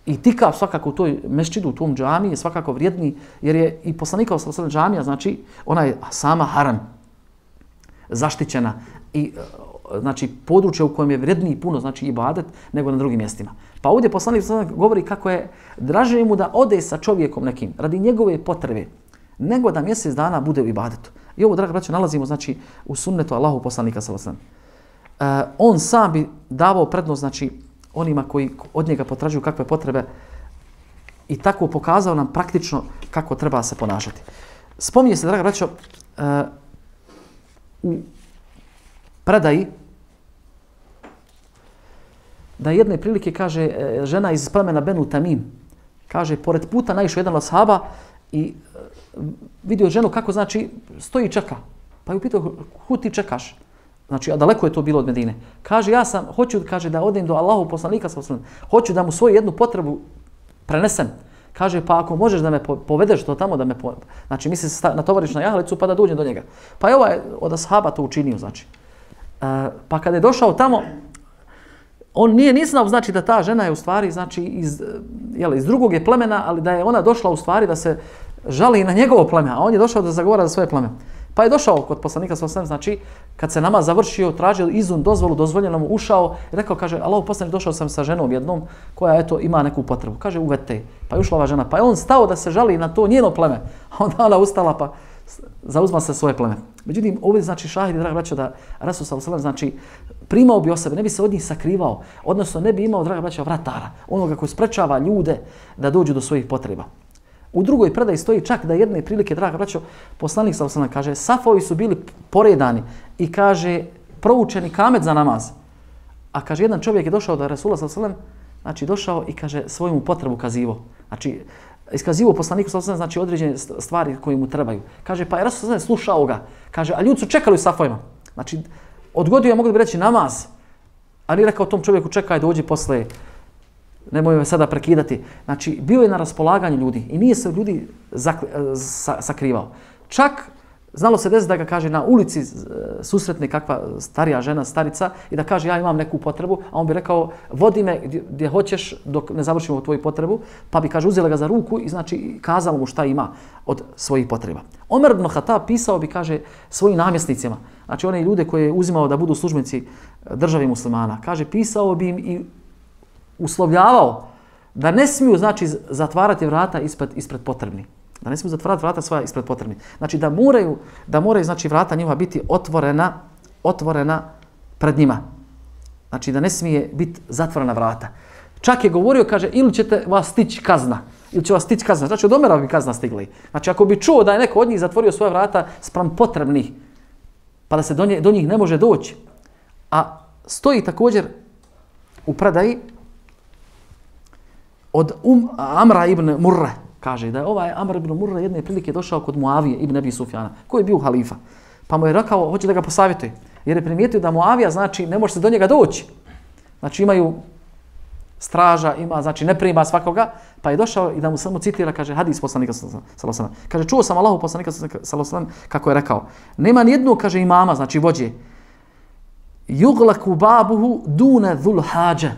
I tikav svakako u toj mesdžidu, u tom džamiji je svakako vrijedni, jer je i poslanikov sallallahu alejhi ve sellem džamija, znači ona je sama haram, zaštićena i znači područje u kojem je vrijedniji puno, znači ibadet, nego na drugim mjestima. Pa ovdje poslanik sallallahu alejhi ve sellem govori kako je draže mu da ode sa čovjekom nekim radi njegove potrebe, nego da mjesec dana bude u ibadetu. I ovo, draga braćo, nalazimo, znači, u sunnetu Allahu poslanika sallallahu alejhi ve sellem. On sam bi davao prednost, znači, onima koji od njega potražuju kakve potrebe i tako pokazao nam praktično kako treba se ponašati. Spominje se, draga braćo, u predaji da jedne prilike, kaže, žena iz plemena Benu Tamim, kaže, pored puta naišao jedan od ashaba i vidio ženu kako, znači, stoji i čeka. Pa je upitao, kud ti čekaš? Znači, a daleko je to bilo od Medine. Kaže, ja sam, hoću, kaže, da odem do Allahu poslanika sallallahu alejhi ve sellem, hoću da mu svoju jednu potrebu prenesem. Kaže, pa ako možeš da me povedeš to tamo, da me znači, misli se natovariš na jahalicu pa da dođem do njega. Pa je ovaj od ashaba to učinio, znači. Pa kada je došao tamo, on nije znao, znači, da ta žena je u stvari, znači, iz drugog je plemena, ali da je ona došla u stvari da se žali na njegovo pleme, a on je došao da zagovara za svoje pleme. Pa je došao kod poslanika sallallahu alejhi ve sellem, znači, kad se namaz završio, tražio izun, dozvolu, dozvoljeno mu, ušao i rekao, kaže, Allahu poslanik, došao sam sa ženom jednom koja, eto, ima neku potrebu. Kaže, uvete. Pa je ušla ova žena. Pa je on stao da se žali na to njeno pleme. A onda ona ustala pa zauzma se svoje pleme. Međutim, ovdje, znači, šahidi, draga braćo, da Rasul sallallahu alejhi ve sellem, znači, primao bi o sebe, ne bi se od njih sakrivao, odnosno ne bi imao, draga braćo, vratara, onoga koji sprečava ljude da dođu do svojih potreba. U drugoj predaji stoji čak da jedne prilike, draga braćo, poslanik sallallahu alejhi ve sellem, kaže, safovi su bili poredani i, kaže, proučeni kamet za namaz. A, kaže, jedan čovjek je došao do Rasula sallallahu alejhi ve sellem, znači došao i, kaže, svoju potrebu kazivo. Znači, iskazivo poslaniku sallallahu alejhi ve sellem, znači određene stvari koje mu trebaju. Kaže, pa je Rasul sallallahu alejhi ve sellem slušao ga. Kaže, a ljudi su čekali u safovima. Znači, odgodio je, mogli bi reći, namaz. A nije rekao tom čovjeku, čekaj, dođi posle, nemoj me sada prekidati. Znači, bio je na raspolaganju ljudi i nije se ljudi sakrivao. Čak, znalo se desiti da ga, kaže, na ulici susretne kakva starija žena, starica, i da kaže, ja imam neku potrebu, a on bi rekao, vodi me gdje hoćeš dok ne završimo tvoju potrebu, pa bi, kaže, uzela ga za ruku i, znači, kazalo mu šta ima od svojih potreba. Omer ibn Khattab pisao bi, kaže, svojim namjesnicima, znači one ljude koje je uzimao da budu službenici državi muslimana, kaže, pisao bi im i uslovljavao da ne smiju, znači, zatvarati vrata ispred potrebni. Da ne smiju zatvarati vrata svoja ispred potrebni. Znači, da moraju, znači, vrata njihova biti otvorena pred njima. Znači, da ne smije biti zatvorena vrata. Čak je govorio, kaže, ili ćete vas stići kazna. Ili će vas stići kazna. Znači, od Omera bi kazna stigla. Znači, ako bi čuo da je neko od njih zatvorio svoja vrata spram potrebnih, pa da se do njih ne može doći. A stoji također u predaji od Amra ibn Murre, kaže da je ovaj Amr ibn Murre jedne prilike došao kod Muavije ibn Abi Sufjana, koji je bio halifa. Pa mu je rekao, hoće da ga posavjetuje, jer je primijetio da Muavija, znači, ne može se do njega doći. Znači, imaju straža, ima, znači, ne prima svakoga, pa je došao i da mu samo citira, kaže, hadis poslanika sallallahu alejhi ve sellem. Kaže, čuo sam Allahu poslanika sallallahu alejhi ve sellem kako je rekao, nema ni jednog, kaže, imama, znači vođe, Yuglaku babuhu dune dhul hađe.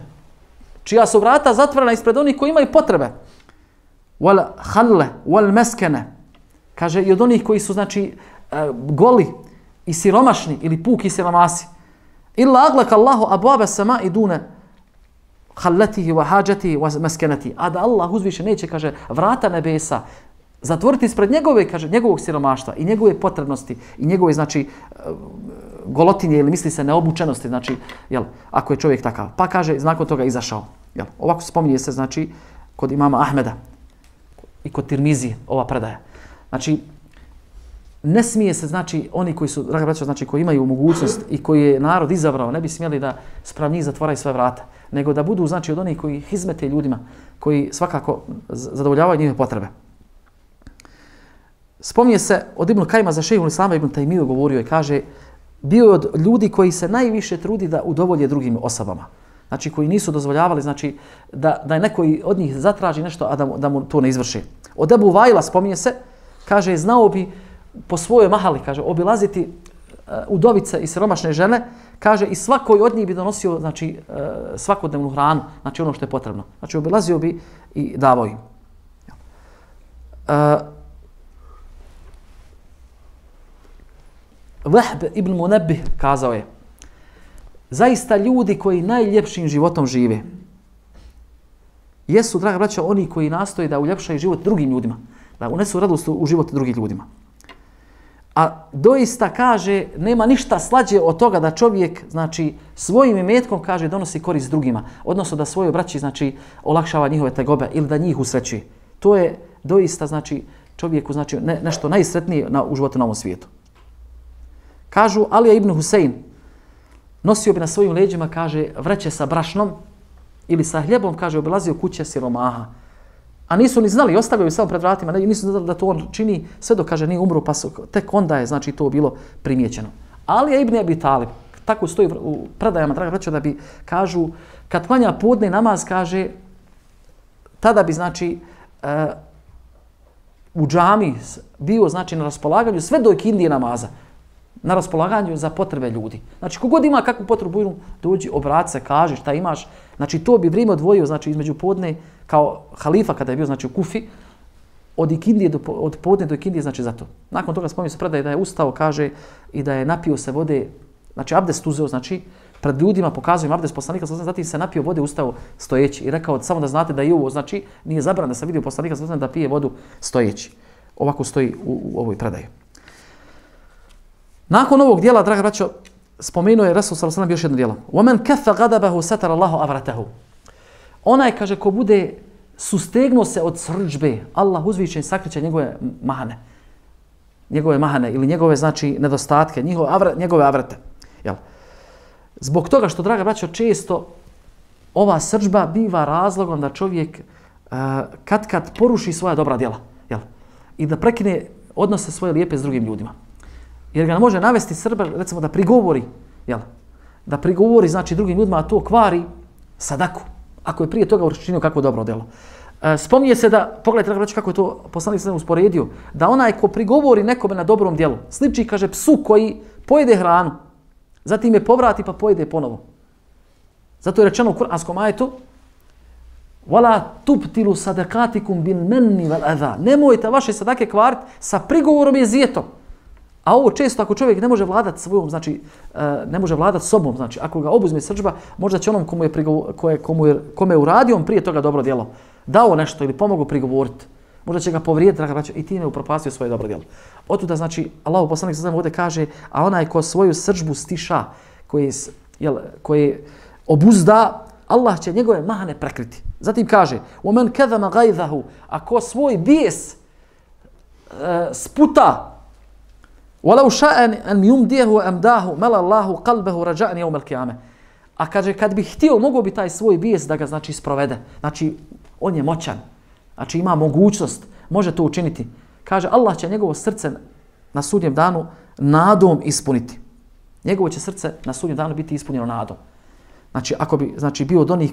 Čija su vrata zatvorena ispred onih koji imaju potrebe. Wal halle, wal meskene. Kaže, i od onih koji su, znači, goli i siromašni ili puki siromasi. Illa aglaka Allahu abwaaba samai dune hallatihi wa hajatihi wa maskanatihi. A da Allah uzviše neće, kaže, vrata nebesa zatvoriti ispred njegove, kaže, njegovog siromaštva i njegove potrebnosti i njegove, znači, golotinje ili misli se neobučenosti, znači, jel, ako je čovjek takav. Pa kaže, nakon toga izašao. Jel, ovako spominje se, znači, kod imama Ahmeda i kod Tirmizije ova predaja. Znači, ne smije se, znači, oni koji su, draga braćo, znači, koji imaju mogućnost i koji je narod izabrao, ne bi smjeli da spram njih zatvaraju sve vrata, nego da budu, znači, od onih koji hizmete ljudima, koji svakako zadovoljavaju njihove potrebe. Spominje se od Ibn Kajma za šejhul Islama Ibn Tajmiju govorio i kaže, bio je od ljudi koji se najviše trudi da udovolje drugim osobama. Znači, koji nisu dozvoljavali, znači, da je neko od njih zatraži nešto, a da mu to ne izvrši. Od Ebu Vajla spominje se, kaže, znao bi po svojoj mahali, kaže, obilaziti udovice i siromašne žene, kaže, i svakoj od njih bi donosio, znači, svakodnevnu hranu, znači ono što je potrebno. Znači, obilazio bi i davao im. Vahb ibn Munabbih kazao je, zaista ljudi koji najljepšim životom žive jesu, draga braćo, oni koji nastoje da uljepšaju život drugim ljudima, da unesu radost u život drugim ljudima. A doista, kaže, nema ništa slađe od toga da čovjek, znači, svojim imetkom, kaže, donosi korist drugima, odnosno da svojoj braći, znači, olakšava njihove tegobe ili da njih usrećuje. To je doista, znači, čovjeku, znači, nešto najsretnije u životu na ovom svijetu. Kažu, Alija ibn Husein nosio bi na svojim leđima, kaže, vreće sa brašnom ili sa hljebom, kaže, obilazio kuće siromaha. A nisu ni znali, ostavio bi samo pred vratima, nisu znali da to on čini sve dok, kaže, nije umro, pa tek onda je, znači, to bilo primijećeno. Alija ibn Abi Talib, tako stoji u predajama, draga braćo, da bi, kažu, kad klanja podne namaz, kaže, tada bi, znači, u džami bio, znači, na raspolaganju sve do ikindije namaza, na raspolaganju za potrebe ljudi. Znači, kogod ima kakvu potrebu, dođi, obrati se, kaži šta imaš. Znači, to bi vrijeme odvojio, znači, između podne, kao halifa kada je bio, znači, u Kufi, od podne do ikindije, znači, za to. Nakon toga spominje se predaje da je ustao, kaže, i da je napio se vode, znači, abdest uzeo, znači, pred ljudima pokazuje im abdest poslanika, zatim se napio vode, ustao stojeći i rekao, samo da znate da i ovo, znači, nije zabran da se vidio poslanika, da pije vodu stojeći. Ovako stoji u ovoj predaji. Nakon ovog dijela, draga braćo, spomenuo je Resul sallallahu alejhi ve sellem još jedno djelo. وَمَنْ كَفَّ غَضَبَهُ سَتَرَ اللَّهُ أَوْرَتَهُ. Onaj, kaže, ko bude sustegnuo se od srdžbe, Allah uzvišen sakriće njegove mahane ili njegove, znači, nedostatke, njegove avrete. Jel? Zbog toga što, draga braćo, često ova srdžba biva razlogom da čovjek kad poruši svoja dobra djela. Jel? I da prekine odnose svoje lijepe s drugim ljudima. Jer ga može navesti srdba, recimo, da prigovori, jel? Da prigovori, znači, drugim ljudima, a to kvari sadaku. Ako je prije toga učinio kako dobro djelo. Spominje se da, pogledajte, reći kako je to poslanik sallallahu usporedio, da onaj ko prigovori nekome na dobrom djelu, sliči, kaže, psu koji pojede hranu, zatim je povrati pa pojede ponovo. Zato je rečeno u kuranskom ajetu, وَلَا تُبْتِلُوا صَدَقَاتِكُمْ بِالْمَنِّ وَالْأَذَا. Nemojte vaše sadake kvariti sa prigovorom i zijetom. A ovo često, ako čovjek ne može vladati svojom, znači, ne može vladati sobom, znači, ako ga obuzme srdžba, možda će onom kome je uradio on prije toga dobro djelo, dao nešto ili pomogao prigovoriti, možda će ga povrijediti, draga braćo, i time upropastio svoje dobro djelo. Otuda, znači, Allahu poslanik sallallahu ovdje kaže, a onaj ko svoju srdžbu stiša, koji obuzda, Allah će njegove mahane prekriti. Zatim kaže, وَمَنْ كَذَمَ غَيْذَهُ. Ako svoj bijes sputa, وَلَوْ شَاءَ أَنْ يُمْدِيهُ أَمْدَاهُ مَلَ اللَّهُ قَلْبَهُ رَجَاءً يَوْمَ الْقِيَامَةِ. A kaže, kad bi htio, mogao bi taj svoj bijes da ga, znači, sprovede. Znači, on je moćan. Znači, ima mogućnost, može to učiniti. Kaže, Allah će njegovo srce na sudnjem danu nadom ispuniti. Njegovo će srce na sudnjem danu biti ispunjeno nadom. Znači, ako bi, znači, bio od onih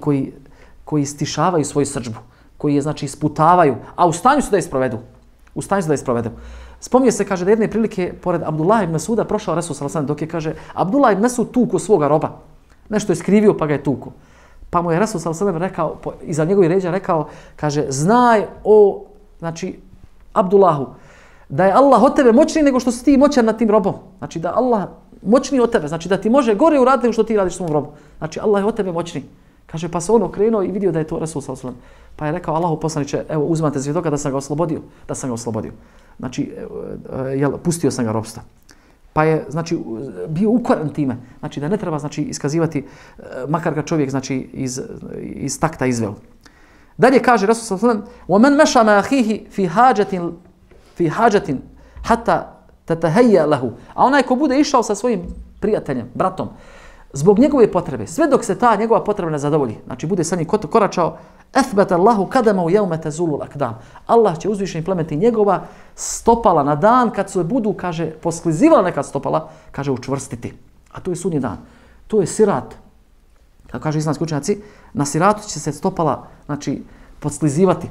koji stišavaju svoju srdžbu, koji je, znači, isputavaju, a u stanju su da je sprovedu. U stanju su da je sprovedu. Spominje se, kaže, da jedne prilike pored Abdullah ibn Mesuda prošao Resul sallallahu alejhi ve sellem, dok je, kaže, Abdullah ibn Mesud tuku svoga roba. Nešto je skrivio pa ga je tuku. Pa mu je Resul sallallahu alejhi ve sellem rekao, iza njegovih ređa rekao, kaže, znaj o, znači, Abdullahu, da je Allah od tebe moćniji nego što si ti moćan nad tim robom. Znači da Allah moćniji od tebe, znači da ti može gore uraditi nego što ti radiš svom robu. Znači Allah je od tebe moćniji. Kaže, pa se on okrenuo i vidio da je to Resul sallallahu alejhi ve sellem. Pa je rekao, Allahu poslaniče, evo uzmate svjedoka da sam ga oslobodio. Znači, pustio sam ga robstva. Pa je, znači, bio ukoran time. Znači, da ne treba, znači, iskazivati, makar ga čovjek, znači, iz takta izveo. Dalje kaže Resul sallallahu alejhi ve sellem: "Wa man masha ma akhihi fi hajatin hatta tatahayya lahu." A onaj ko bude išao sa svojim prijateljem, bratom, zbog njegove potrebe, sve dok se ta njegova potreba ne zadovolji, znači bude sa njim koračao, athbata Allahu qadamahu yawma tazulu al-aqdam. Allah će uzvišeni plemeniti njegova stopala na dan kad se budu, kaže, posklizivala neka stopala, kaže, učvrstiti. A to je sudnji dan. To je sirat. Kako kaže islamski učenjaci, na siratu će se stopala, znači, podsklizivati.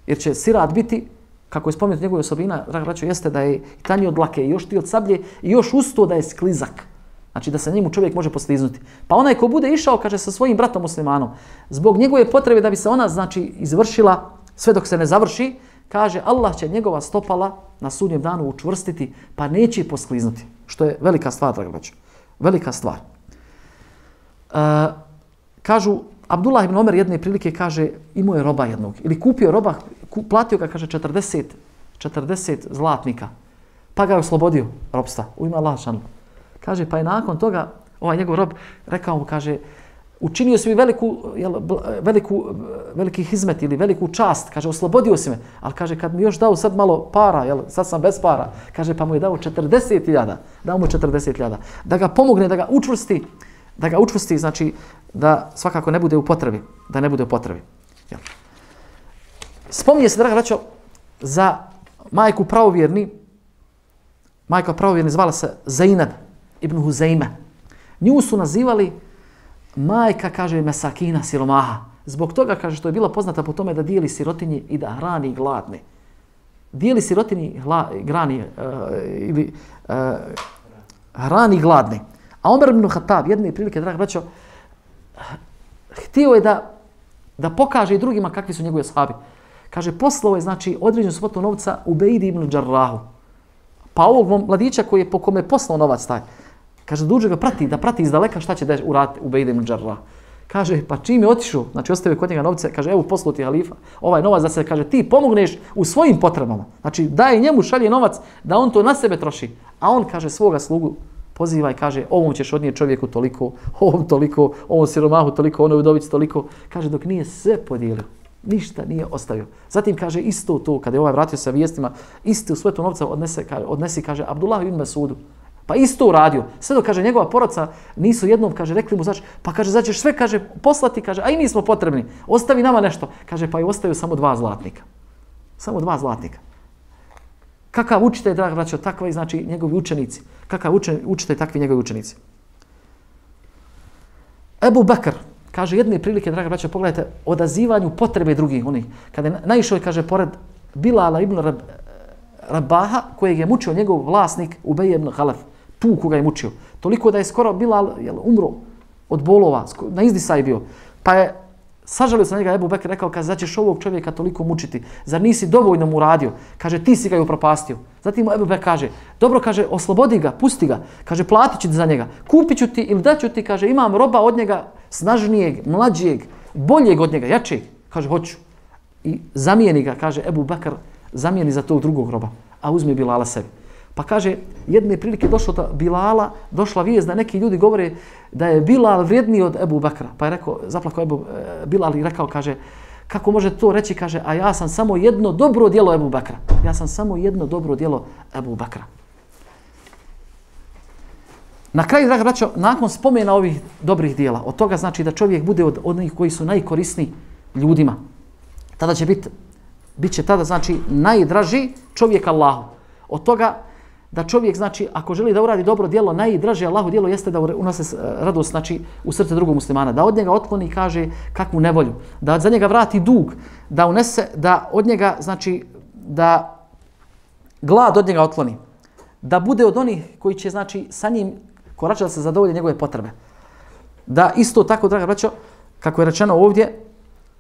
Jer će sirat biti, kako je spomenuto njegove osobina, draga braćo, jeste da je tanji od dlake, još ti od sablje i još usto da je sklizak. Znači da se njemu čovjek može poskliznuti. Pa onaj ko bude išao, kaže, sa svojim bratom muslimanom, zbog njegove potrebe da bi se ona, znači, izvršila sve dok se ne završi, kaže, Allah će njegova stopala na sudnjem danu učvrstiti, pa neće poskliznuti. Što je velika stvar, draga braćo. Velika stvar. Kažu, Abdullah ibn Omer jedne prilike, kaže, imao je roba jednog. Ili kupio roba, platio ga, kaže, 40 zlatnika. Pa ga je oslobodio robstva. U ime Allaha šanu. Kaže, pa je nakon toga, ovaj njegov rob, rekao mu, kaže, učinio si mi veliki hizmet ili veliku čast. Kaže, oslobodio si me. Ali kaže, kad mi još dao sad malo para, sad sam bez para. Kaže, pa mu je dao 40.000. Dao mu 40.000. Da ga pomogne, da ga učvrsti, znači, da svakako ne bude u potrebi. Da ne bude u potrebi. Spominje se, draga braćo, za majku pravovjerni. Majka pravovjerni zvala se Zainab ibn Huzejme. Nju su nazivali majka, kaže, mesakina, siromaha. Zbog toga, kaže, što je bila poznata po tome da dijeli sirotinji i da hrani gladne. Dijeli sirotinji hrani gladne. A Omer ibn Khattab, jedne prilike, draga braćo, htio je da pokaže i drugima kakvi su njegove ashabi. Kaže, poslao je, znači, određenu svotu novca Ubejdi ibn Džarrahu. Pa ovog mladića koji je po kome je poslao novac taj, kaže, duže ga da prati izdaleka šta će da uraditi Ubejdi ibn Džarrah. Kaže, pa čim je otišao, znači ostavio kod njega novce, kaže, evo poslao ti halifa, ovaj novac da se, kaže, ti pomogneš u svojim potrebama. Znači, daje njemu, šalje novac da on to na sebe troši. A on, kaže, svoga slugu poziva i kaže, ovom ćeš odnijeti čovjeku toliko, ovom toliko, ovom siromahu toliko, onoj udovici toliko. Kaže, dok nije sve podijelio, ništa nije ostavio. Zatim kaže, isto to, kada je ovaj vratio sa vijestima, isto svetu novca odnesi, kaže, Abdullah ibn Mesudu. Pa isto uradio. Sve dok, kaže, njegova porodca nisu jednom, kaže, rekli mu, znači, pa kaže, začeš sve, kaže, poslati, kaže, a i mi smo potrebni, ostavi nama nešto. Kaže, pa je ostavio samo 2 zlatnika. Samo 2 zlatnika. Kakav učitelj, draga braćo, takvi, znači, njegovi učenici. Kakav učitelj, takvi njegovi učenici. Ebu Bekr, kaže, jedne prilike, draga braćo, pogledajte, odazivanju potrebe drugih, onih. Kada je naišao, kaže, pored Bilala ibn Rabaha, kojeg je mučio njegov vlasnik Ubej ibn Halef. Tu koga je mučio. Toliko da je skoro Bilal umro od bolova, na izdisaj bio. Pa je sažalio se na njega Ebu Bekr, rekao, kaže, začeš ovog čovjeka toliko mučiti, zar nisi dovoljno mu radio? Kaže, ti si ga i upropastio. Zatim Ebu Bekr kaže, dobro, kaže, oslobodi ga, pusti ga. Kaže, platit ću ti za njega. Kupit ću ti ili daću ti, kaže, imam roba od njega snažnijeg, mlađijeg, boljeg od njega, jačeg. Kaže, hoću. I zamijeni ga, kaže, Ebu Bekr, zamijeni za tog drugog roba, a uzme Bilala sebi. Pa kaže, jedne prilike došlo do Bilala, došla vijest da neki ljudi govore da je Bilal vrijedniji od Ebu Bekra. Pa je rekao, zaplakao Bilal i rekao, kaže, kako može to reći, kaže, a ja sam samo jedno dobro djelo Ebu Bekra. Ja sam samo jedno dobro djelo Ebu Bekra. Na kraju, draga braćo, nakon spomena ovih dobrih djela, od toga znači da čovjek bude od onih koji su najkorisniji ljudima. Tada će bit će tada, znači, najdraži čovjek Allahu. Od toga da čovjek, znači, ako želi da uradi dobro djelo, najdraže Allahu djelo jeste da unose radost, znači, u srce drugog muslimana. Da od njega otkloni, kaže, kakvu nevolju. Da za njega vrati dug. Da unese, da od njega, znači, da glad od njega otkloni, da bude od onih koji će, znači, sa njim koračati da se zadovolje njegove potrebe. Da isto tako, draga braćo, kako je rečeno ovdje,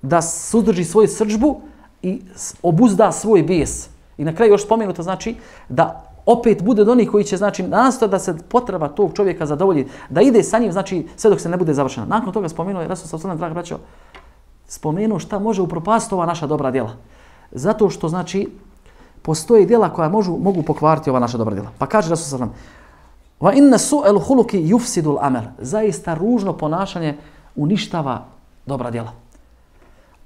da suzdrži svoju srdžbu i obuzda svoj bijes. I na kraju još spomenuto, znači, da opet bude od onih koji će, znači, nastojati da se potreba tog čovjeka zadovolji, da ide sa njim, znači, sve dok se ne bude završena. Nakon toga spomenuo je Resul sallallahu alejhi ve sellem, draga braćo, spomenuo šta može upropastiti ova naša dobra djela. Zato što, znači, postoje djela koja mogu pokvariti ova naša dobra djela. Pa kaže Resul sallallahu alejhi ve sellem: "Wa inna su'al khuluqi yufsidul amal." Zaista ružno ponašanje uništava dobra djela.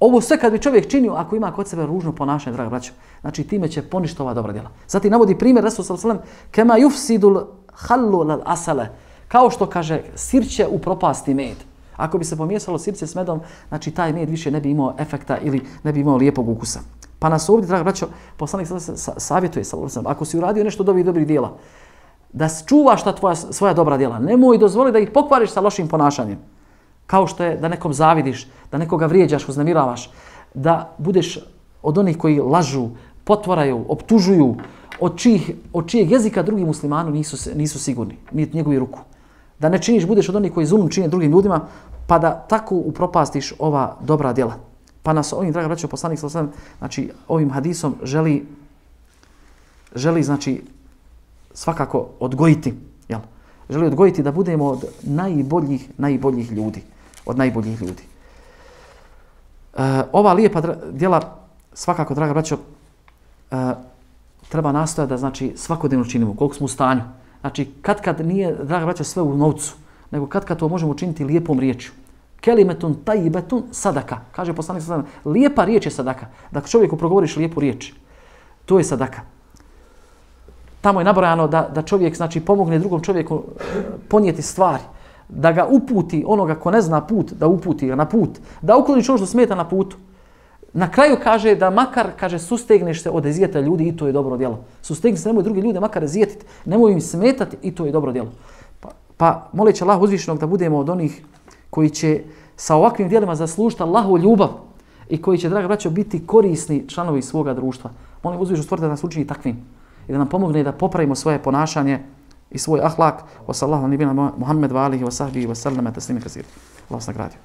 Ovo sve kad bi čovjek činio, ako ima kod sebe ružno ponašanje, draga braćo, znači time će poništiti ova dobra djela. Zatim navodi primjer Resul sallallahu alejhi ve sellem: "Kama yufsidul khallu lal asala." Kao što kaže, sirće upropasti med. Ako bi se pomiješalo sirće s medom, znači taj med više ne bi imao efekta ili ne bi imao lijepog ukusa. Pa nas ovdje, draga braćo, poslanik savjetuje, ako si uradio nešto od ovih dobrih djela, da čuvaš svoja dobra djela. Nemoj dozvoli da ih pokvariš sa lošim ponašanjem. Kao što je da nekom zavidiš, da nekoga vrijeđaš, uznemiravaš, da budeš od onih koji lažu, potvaraju, optužuju, od čijeg jezika drugi muslimanu nisu sigurni, niti njegovi ruku. Da ne činiš, budeš od onih koji zulum čine drugim ljudima, pa da tako upropastiš ova dobra djela. Pa nas ovim, draga braćo, poslanik sallallahu alejhi ve sellem, znači ovim hadisom želi znači svakako odgojiti, jel? Želi odgojiti da budemo od najboljih ljudi, od najboljih ljudi. Ova lijepa djela svakako, draga braćo, treba nastojati da, znači, svakodnevno činimo, koliko smo u stanju. Znači, kad nije, draga braćo, sve u novcu, nego kad to možemo učiniti lijepom riječju. Kelimetun tajibetun sadaka. Kaže poslanik sallallahu alejhi ve sellem, lijepa riječ je sadaka. Dakle, čovjeku progovoriš lijepu riječ, to je sadaka. Tamo je nabrojano da čovjek, znači, pomogne drugom čovjeku ponijeti stvari, da ga uputi, onoga ko ne zna put, da uputi ga na put, da ukloniš ono što smeta na putu. Na kraju kaže da makar, kaže, sustegneš se od ezijeta ljudi i to je dobro djelo. Sustegni se, nemoj drugi ljude makar ezijetiti, nemoj im smetati i to je dobro djelo. Pa moleći Allah uzvišenog da budemo od onih koji će sa ovakvim djelima zaslužiti Allahovu ljubav i koji će, draga braćo, biti korisni članovi svoga društva. Molim uzvišenog stvoritelja da nas učini takvim i da nam pomogne da popravimo svoje ponašanje i svoj ahlak. Wa sallallahu alejhi ve sellem Muhammed wa alihi wa sahbihi wa sallam taslima kaseer. Allah vas nagradio.